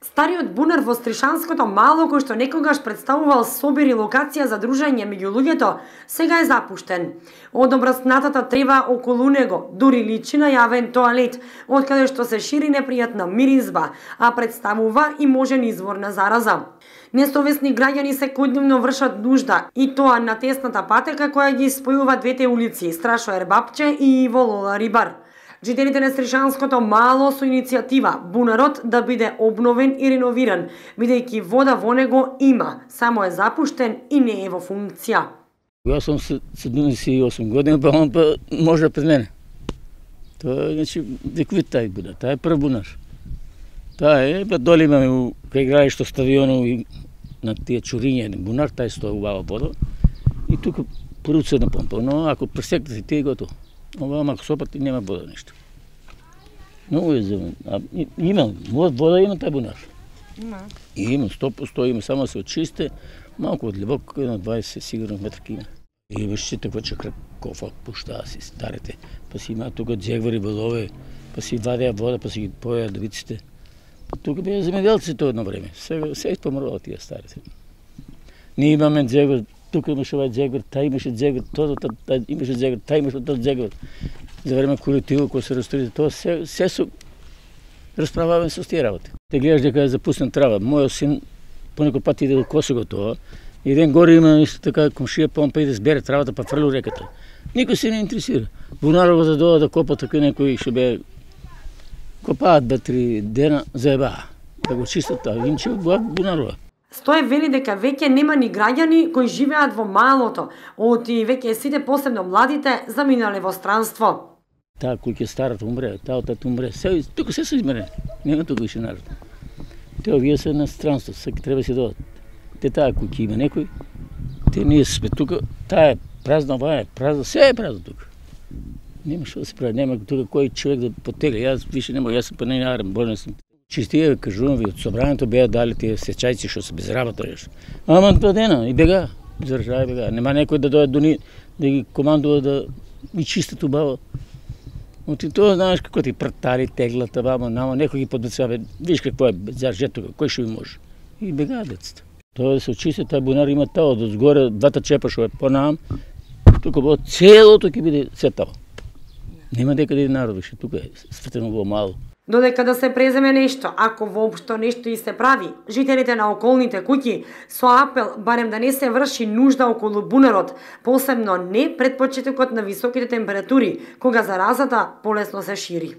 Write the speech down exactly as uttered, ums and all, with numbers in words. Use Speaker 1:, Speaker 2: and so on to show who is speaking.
Speaker 1: Стариот бунар во Стришанското мало, кој што некогаш представувал собир и локација за дружење меѓу луѓето, сега е запуштен. Од обраснатата трева околу него дури личи на јавен тоалет, од каде што се шири непријатна миризба, а представува и можен извор на зараза. Несовесни граѓани секојдневно вршат нужда, и тоа на тесната патека која ги спојува двете улици, Страшо Ербапче и Иво Лола Рибар. Жителите на Стришанското мало со иницијатива бунарот да биде обновен и реновиран, бидејќи вода во него има, само е запуштен и не е во функција.
Speaker 2: Јас сум седумдесет и осум години, па он па може пред мене. Тоа е, значи, вековит тај бунар, тај е прв бунар. Таа е, па доле имаме кај игралишто стадиону и на тие чуриња бунар, тај стои убава вода. И тука поруцена помпа, но ако пресекнете тие готово. Ова ако сопати нема вода ништо. Многу е за а, има, вода има тај бунар. Има. Има, сто поsto има, само се очисте, малку од длабоко, едно дваесет сигурно метри има. И имаше таква чакра кофа, пуштаа си старите, па си има тука джегвари волове, па си вадеа вода, па си ги поеа девиците. Па тука беа земјоделци тоа едно време. Сега се помрува тие старите. Ние имаме джегвар, тука имаше овај джегвар, тај имаше джегвар, тоа, тоа, имаше джегвар, тај имаше тоа джегвар. За време колективот кој се растори, тоа се, се со расправаваме со тие работи. Те гледаш дека е запуснен трава. Мојот син понекој пат иде до Косово тоа, и ден горе има исто така комшија, па он па иде збере травата, па фрли реката. Никој се не интересира. Бунарово да доа да копа така некои што бе копаат два-три дена заебаа. Да го чистат тоа, инче Бунарова.
Speaker 1: Стој вели дека веќе нема ни граѓани кои живеат во малото, оти веќе сите, посебно младите, заминале во странство.
Speaker 2: Таа куќа старата умре, таа таа умре, се тука се се измере. Нема тука више народ. Те овие се на странство, секој треба се додат. Те таа куќа има некој. Те ние сме тука, таа е празна, оваа е празна, се е празно тука. Нема што да се прави, нема тука кој човек да потегли. Јас више нема, јас сум па не арам, болен сум. Чистија, кажувам ви, од собранието беа дали тие сечајци што се без работа јаш. Ама два дена и бега, заржај бега. Нема некој да дојде до ни да ги командува да ги чистат убаво. Оти тоа знаеш како ти пртари, теглата, баба, нама некој ги подбецува, виж какво е зарже тука, кој што ви може. И бегаат децата. Тоа да се очисти, тај бунар има тао, од згоре двата чепа што е понам, тука бо целото ќе биде се тао. Нема дека да народ више, тука е светено во мало.
Speaker 1: Додека да се преземе нешто, ако воопшто нешто и се прави, жителите на околните куќи со апел барем да не се врши нужда околу бунарот, посебно не пред почетокот на високите температури, кога заразата полесно се шири.